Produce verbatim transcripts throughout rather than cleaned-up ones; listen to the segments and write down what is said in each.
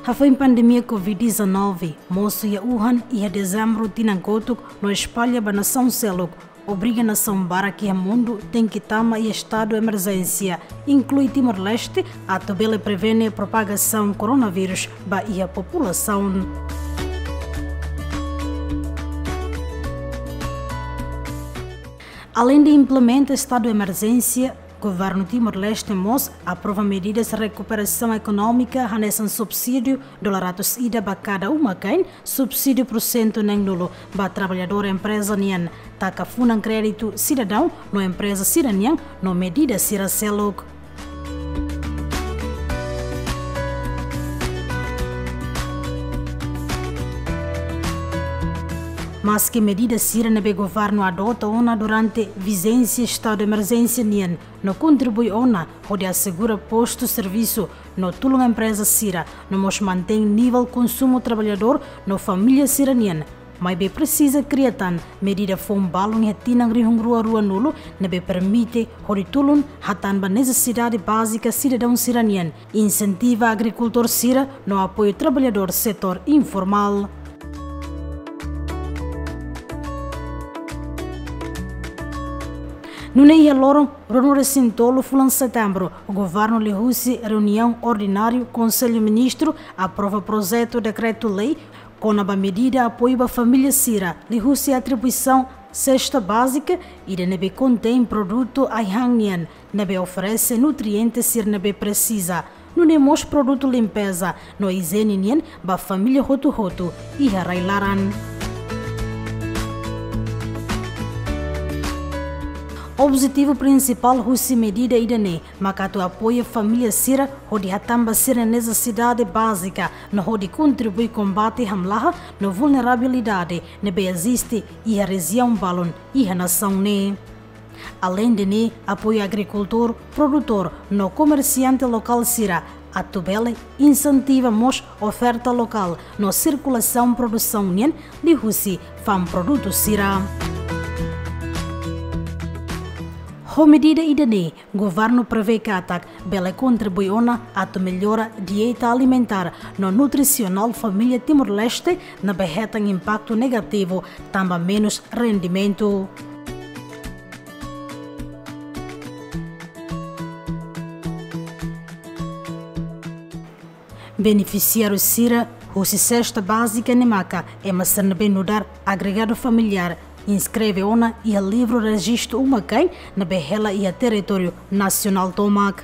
Hafoin pandemia covid dezanove mosu iha Wuhan iha Dezembru tinan kotuk no espalla ba nasaun seluk, obriga nasaun barak iha mundu tenke tama iha estadu emerjénsia, inklui Timor-Leste, atu bele prevene propagasaun koronavírus ba iha populasaun. Aleinde implementa estadu emerjénsia, Governu Timor-Leste mós aprova medidas rekuperasaun ekonómika hanesan subsídiu dolar ratus ida ba kada uma-kain, subsídiu pursentu neen-nulu ba traballadór empreza nian, taka funan kréditu sidadaun no empreza sira-nian no medida sira seluk. Maski medida sira ne'ebé governu adota ona durante vijénsia estadu emerjénsia nian no kontribui ona hodi asegura postu servisu no tulun empreza sira, no mós mantein nivel konsumu traballadór no família sira-nian, maibé presiza kria tan medida foun balun iha tinan rihun rua ruanulu ne'ebé permite hodi tulun hatán ba nesesidade bázika sidadaun sira-nian, insentiva agrikultór sira no apoiu traballadór setór informál. Nune'e iha loron ruanulu-resin-tolu fulan Setembru, governu liuhusi reuniaun ordináriu Konsellu Ministru aprova projetu dekretu-lei kona-ba medida apoiu ba família sira liuhusi atribuisaun sesta bázika, ida ne'ebé kontein produtu ai-han nian ne'ebé oferese nutriente sira ne'ebé presiza, nune'e mós produtu limpeza no ijiene nian ba família hotu-hotu iha rai-laran. Objetivu prinsipál husi medida ida-ne'e maka atu apoia família sira hodi hatán ba sira-nia nesesidade bázika no hodi kontribui kombate hamlaha no vulnerabilidade ne'ebé eziste iha rejiaun balun iha nasaun ne'e. Aleinde ne'e, apoiu agrikultór, produtór no komersiante lokál sira atu bele insentiva mós oferta lokál no sirkulasaun produsaun nian liuhusi fa'an produtu sira. Ho medida ida-ne'e, governu prevee katak bele kontribui ona atu mellora dieta alimentár no nutrisionál família Timor-Leste ne'ebé hetan impaktu negativu tanba menus rendimentu. Benefisiáriu sira husi sesta bázika ne'e maka ema sira ne'ebé nu'udar agregadu familiár, inskreve ona iha livru rejistu uma-kain ne'ebé hela iha territóriu nasionál tomak.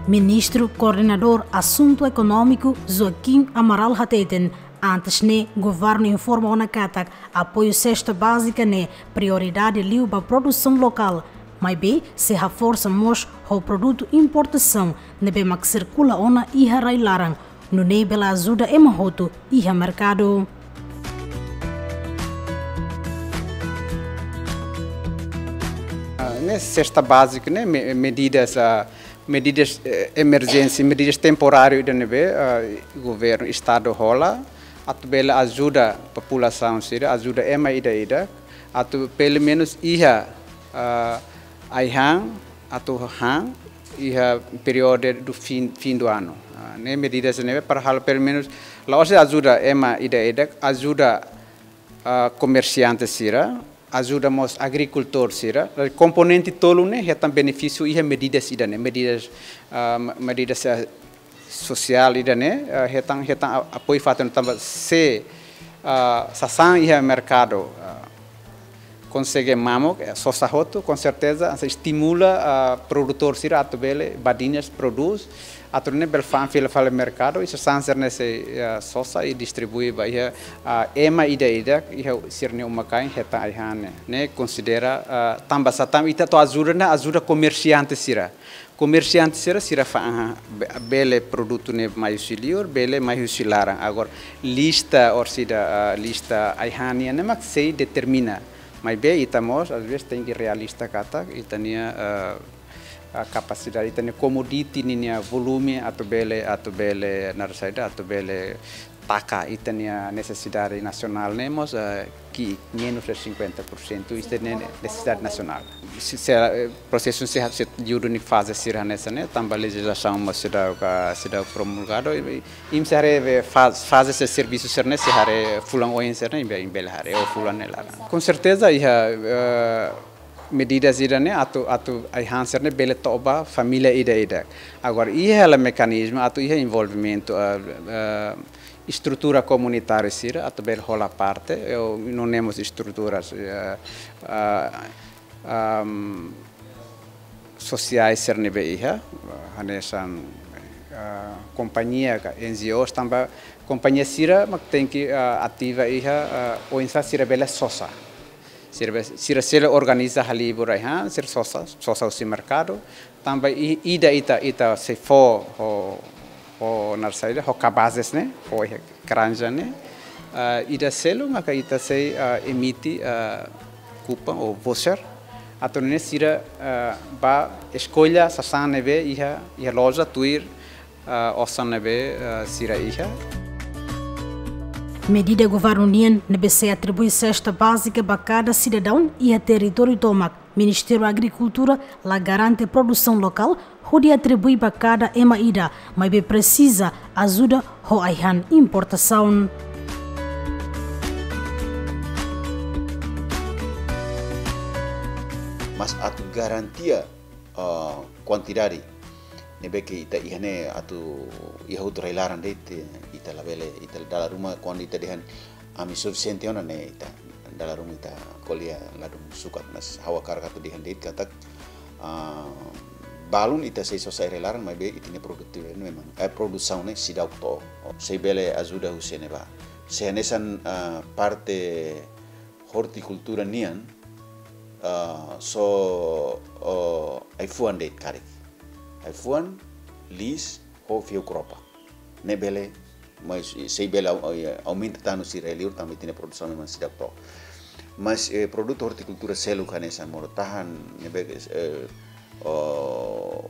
Ministru Koordenadór Asuntu Ekonómiku Joaquim Amaral hateten, antes ne'e governu informa ona katak apoiu sesta bázika ne'e prioridade liu ba produsaun lokál, maibé sei haforsa mós ho produtu importasaun ne'ebé mak sirkula ona iha rai-laran, nune'e bele ajuda ema hotu iha merkadu. Ah, ne'e sesta bázika ne'e, me-, medidas, ah, medidas, eh, emerjénsia, medidas temporáriu ida ne'ebé, ah, governu, estadu hola atu bele ajuda populasaun sira, ajuda ema ida-idak atu pelumenus iha, ah, ai-han atu han iha períodu do fim, fim do ano. Ah, ne'e medidas ne'ebé para halo pelumenus la'ós ajuda ema ida-idak, ajuda, ah, komersiante sira, ajuda mós agrikultór sira. Komponente tolu ne'e hetan benefísiu iha medidas ida-ne'e, medidas, ah, medidas, ah, sosiál ida-ne'e, ah, hetan, hetan a-, apoiu fatin tanba se, ah, sasán iha merkadu, ah, konsege mamuk, eh, sosa hotu, com certeza, hanesan estimula, ah, produtór sira atu bele badinas prodús, atu nune'e bele fa'an fila fali merkadu, i sasán sira-ne'e sei, ah, sosa i distribui ba iha, ah, ema ida-idak, iha sira-nia uma-kain hetan ai-han ne'e. Ne'e konsidera, ah, tanba sá tanba ita atu ajuda ne'e ajuda komersiante sira. Komersiante sira, sira fa'an, be-, bele produtu ne'e mai husi liur, bele mai husi laran. Agora, lista orsida, ah, lista ai-han nian ne'e mak sei determina. Maibé ita mós, às vezes, tenke realista katak ita-nia, ah, ah, kapasidade, ita-nia komoditi ninia volume atu bele, atu bele, naran saida, atu bele taka ita-nia nesesidade nasionál ne'e mós, eh, ki'ik menus de cinquenta por cento ita-nia nesesidade nasionál. Se, se, eh, prosesu se, se liu duni faze sira hanesan ne'e, tanba lejizlasaun mós seidauk, seidauk promulgadu, i, i imi sei haree be faz-, faze sira servisu sira-ne'e sei haree fulan oin sira-ne'e, imi be, imi bele haree, ou fulan ne'e laran. Com certeza, iha, eh, medidas ida-ne'e atu, atu ai-han sira-ne'e bele to'o ba família ida-idak. Agora, iha hela mekanizmu atu iha envolvimentu, eh, eh, estrutura komunitária sira atu bele hola parte, eh, nune'e mós estruturas, eh, ah, ahm, sosiais sira ne'ebé iha, hanesan, ah, kompañia ka N G Os tanba kompañia sira mak tenke, ah, ativa iha, ah, oinsá sira bele sosa. Sira be-, sira selu organiza halibur ai-han, sira sosa, sosa husi merkadu. Tanba i-, ida ita, ita sei fó ho, ho naran saida, ho kabazes ne'e, fó iha granja ne'e. Ah, ida seluk maka ita sei, ah, emite, ah, kupon ou voucher. Atu nune'e sira, ah, bá eskolla sasán ne'ebé iha, iha loja tuir, ah, osan ne'ebé, ah, sira iha. Medida governu nian ne'ebé sei atribui sesta bázika ba kada sidadaun iha territóriu tomak. Ministériu Agrikultura la garante produsaun lokál hodi atribui ba kada ema ida, maibé presiza ajuda ho ai-han importasaun. Mas atu garantia, ah, kuantidade ne'ebé ke ita iha ne'e atu iha hotu rai-laran de'it, ita labele, ita dala ruma kuandu ita dehan ami sufisiente ona ne'e ita dala ruma ita ko'alia ladún sukat, mas ha'u hakarak atu dehan de'it katak, ah, balun ita sei sosa iha rai-laran maibé ita-nia produtividade memang, eh, produsaun ne'e seidauk to'o. Sei bele ajuda husi ne'ebá. Se hanesan, ah, parte ortikultura nian, ah, só, oh, ai-fuan de'it karik. Ai-fuan, liis, ho fiu kropa. Ne'e bele, mas sei bele au-, au-, aumenta tan husi rai-liur tanba ita-nia produsaun memang seidauk to'o. Mas, eh, produtu ortikultura seluk hanesan moro-tahan, ne'ebé, eh, oh,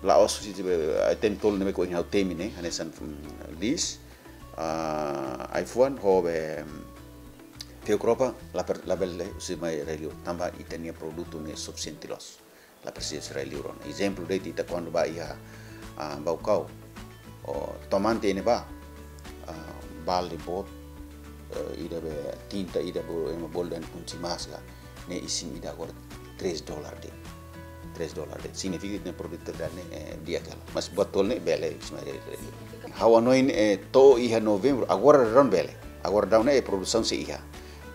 la'ós husi, eh, item tolu ne'ebé ke ohin ha'u temi ne'e, hanesan, mm, liis, ah, ai-fuan, ho be, mm, fiu kropa, la per-, labele husi mai rai-liur, tanba ita-nia produtu ne'e sufisiente loos. La presiza husi rai-liur ona. Ezemplu de'it ita kuandu bá iha, ah, Baucau, ou tomante iha ne'ebá, ah, balde boot, eh, ida be tinta ida be ema bolu dehan kunci emas ka, ne'e isin ida agora três dólar de'it. Três dólar de'it. Signifika ita-nia produtividade ne'e, eh, di'ak hela. Mas buat tolu ne'e bele, isma, eh, eh, ha'u hanoin, eh, to'o iha Novembru, agora daudaun bele. Agora daudaun ne'e produsaun sei iha.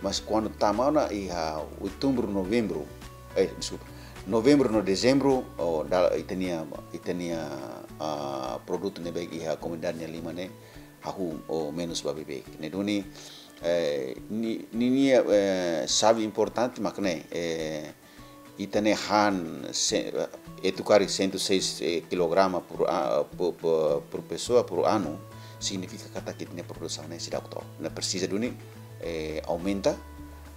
Mas kuandu tama ona iha Outubru, Novembru, eh, deskulpa, Novembru no Dezembru, oh, da-, ita-nia, ita-nia, ah, produtu ne'ebé iha komunidade nia liman ne'e, hahú ou menus ba beibeik. Ne'e duni, eh, ni-, ninia, eh, xave importante mak ne'e, eh, ita-nia han se-, eh, etu karik cento e seis, eh, kilograma por a-, por, por, por pessoa por ano, signifika katak ita-nia produsaun ne'e seidauk to'o. Ne'e presiza duni, eh, aumenta,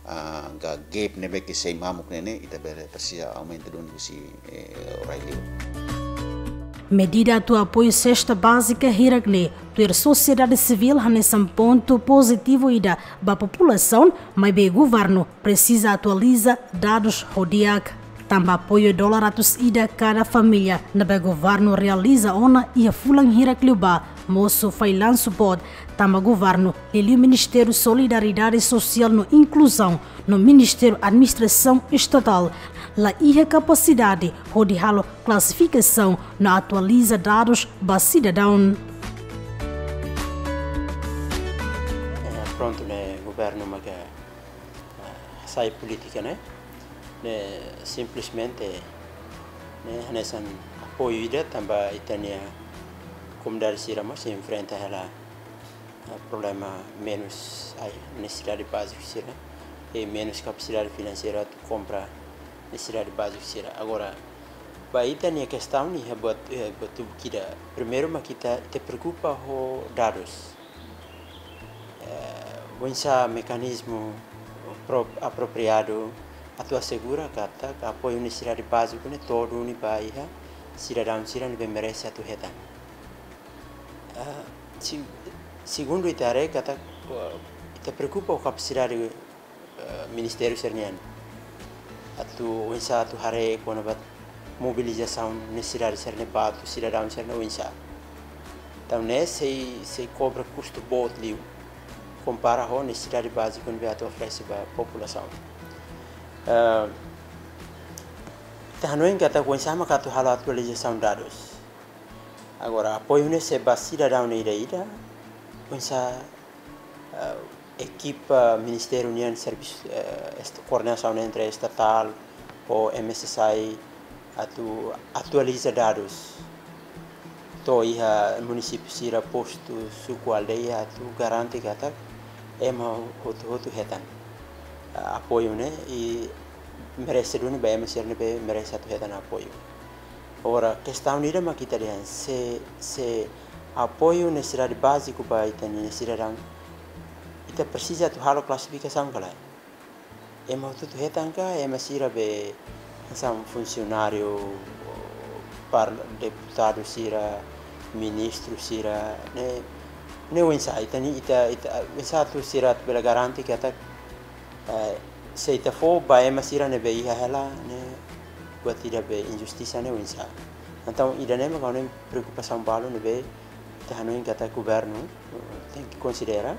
ah, ka gap ne'ebé ke sei mamuk ne'e ne'e, ita bele presiza aumenta duni husi, eh, rai-liur. Medida atu apoiu sesta bázika hirak ne'e, tuir sosiedade sivíl hanesan pontu pozitivu ida ba populasaun, maibé governu presiza atualiza dadus ho di'ak. Tanba apoiu dolar ratus ida kada família ne'ebé governu realiza ona iha fulan hirak liubá, mosu fallansu boot, tanba governu, liuliu Ministériu Solidariedade Sosiál no Inkluzaun no Ministériu Administrasaun Estatál, la iha kapasidade hodi halo klasifikasaun no atualiza dadus ba sidadaun. Eh, prontu, ne'e governu maka, eh, hasai polítika ne'e, ne'e simplesmente ne'e hanesan apoiu ida tanba ita-nia komunidade sira mós enfrenta hela, eh, problema menus ai-han, nesesidade báziku sira, i menus kapasidade finanseira atu kompra nesesidade báziku sira. Agora, ba ita-nia kestaun ne'e, eh, buat, eh, buat tubu kida. Primeiru mak ita, ita preokupa ho dadus. Eh, oinsá mekanizmu pro-, apropriadu atu asegura katak apoiu nesesidade báziku ne'e to'o duni ba iha sidadaun sira ne'ebé merese atu hetan. Ah, se, Segundu, ita haree katak, eh, ita preokupa ho kapasidade, eh, ministériu sira-nian. Atu oinsá atu haree kona-ba mobilizasaun nesesidade sira-ne'e ba atu sidadaun sira-ne'e oinsá. Entaun ne'e sei, sei kobra kustu boot liu, kompara ho nesesidade báziku ne'ebé atu oferese ba populasaun. Eh, ita hanoin katak oinsá maka atu halo atualizasaun dadus. Agora, apoiu ne'e sei ba sidadaun ida-ida, oinsá, eh, ekipa ministériu nian servisu, eh, est-, koordenasaun entre estatál ho M S S I atu atualiza dadus to'o iha munisípiu sira, postu, suku, aldeia, atu garante katak ema hotu-hotu hetan, eh, apoiu ne'e, i merese duni ba ema sira ne'ebé merese atu hetan apoiu. Agora, kestaun ida mak ita dehan, se, se apoiu nesesidade báziku ba ita-nia sidadaun, ita presiza atu halo klasifikasaun ka lae? Ema hotu-hotu hetan ka, ema sira be hanesan funsionáriu, par-, deputadu sira, ministru sira, ne'e, ne'e oinsá, ita-nia, ita, ita, oinsá atu sira bele garante katak, eh, se ita fó ba ema sira ne'ebé iha hela, ne'e buat ida be injustisa, ne'e oinsá. Entaun, ida-ne'e mak ha'u-nia preokupasaun balu ne'ebé ita hanoin katak governu, eh, tenke konsidera,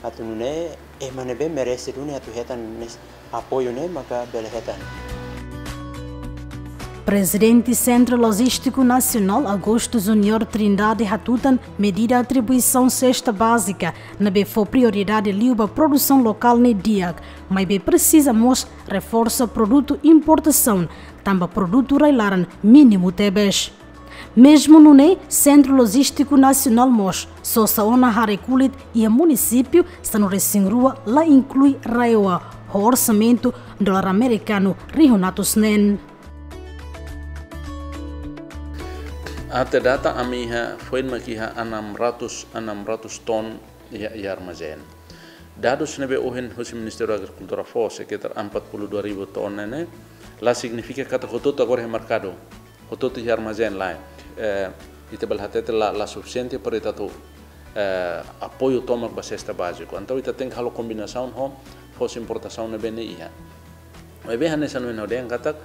atu nune'e ema ne'ebé merese duni atu hetan nes-, apoiu ne'e maka bele hetan. Prezidente Sentru Lojístiku Nasionál, Augusto Júnior Trindade, hatutan medida atribuisaun sesta bázika ne'ebé fó prioridade liu ba produsaun lokál ne'e di'ak, maibé presiza mós reforsa produtu importasaun, tanba produtu rai-laran mínimu tebes. Mezmu nune'e, Sentru Lojístiku Nasionál mós sosa ona haree kulit iha munisípiu sanulu-resin-rua, la inklui RAEOA, ho orsamentu dolar amerikanu rihun atus neen. Até data ami iha, foin mak iha enam ratus, enam ratus ton iha, iha armazén. Dadus ne'ebé ohin husi Ministériu Agrikultura fó, sekitar empat puluh dua ribu ton ne'e, la signifika katak hotu-hotu agora iha merkadu, hotu-hotu iha armazén, lae. Eh, ita bele hatete la, la sufisiente para ita atu, eh, apoiu tomak ba sesta báziku. Entaun ita tenke halo kombinasaun ho foos importasaun ne'ebé ne'e iha. Maibé hanesan ohin ha'u dehan katak,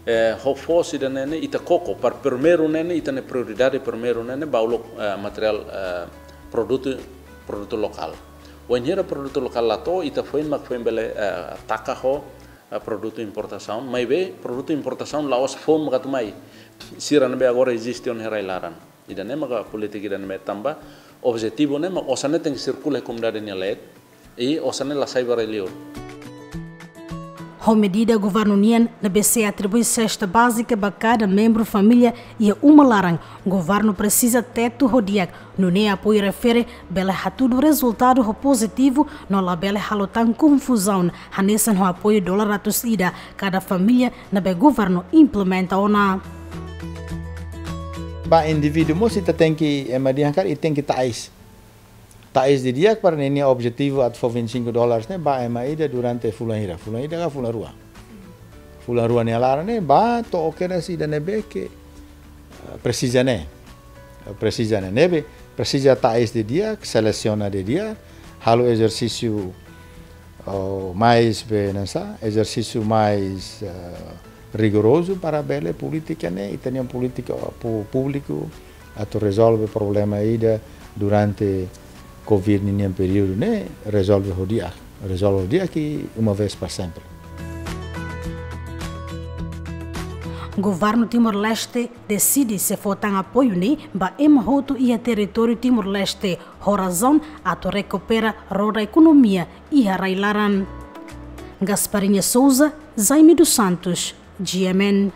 eh, ho foos ida-ne'e ne'e ita koko, para primeiru ne'e ne'e, ita-nia prioridade primeiru ne'e ne'e ba uluk, eh, materiál, eh, produtu, produtu lokál. Wainhira produtu lokál la to'o, ita foin mak foin bele, eh, taka ho, eh, produtu importasaun. Maibé produtu importasaun la'ós foun mak atu mai. Sira ne'ebé agora eziste ona iha rai-laran. Ida-ne'e maka polítika ida ne'ebé tanba objetivu ne'e mak osan ne'e tenke sirkula iha komunidade nia leet, i osan ne'e la sai ba rai-liur. Ho medida governu nian ne'ebé sei atribui sesta bázika ba kada membru família iha uma laran, governu presiza tetu ho di'ak, nune'e apoiu refere bele hatudu rezultadu ho pozitivu, no labele halo tan konfuzaun, hanesan ho apoiu dolar atus ida kada família ne'ebé governu implementa ona. Ba indivíduu mós ita tenke, ema dehan karik, ita tenke ta'es. Ta'es didi'ak para ninia objetivu atu fó vinte e cinco dólares ne'e ba ema ida durante fulan hira. Fulan ida ka fulan rua. Fulan rua nia laran ne'e ba to'o kedas ida ne'ebé ke, eh, presiza ne'e. Presiza ne'e. Ne'ebé presiza ta'es didi'ak, selesiona didi'ak, halo ezersísiu, oh, mais be hanesan, ezersísiu mais, eh, rigorozu para bele polítika ne'e, ita-nia polítika pu-, públiku atu rezolve problema ida durante covid ninia períodu ne'e, rezolve ho di'ak, rezolve ho di'ak i uma vez para sempre. Governu Timor-Leste deside sei fó tan apoiu ne'e ba ema hotu iha territóriu Timor-Leste, ho razaun atu rekupera roda ekonomia iha rai-laran. Gasparinha Souza, Jaime dos Santos, G M N.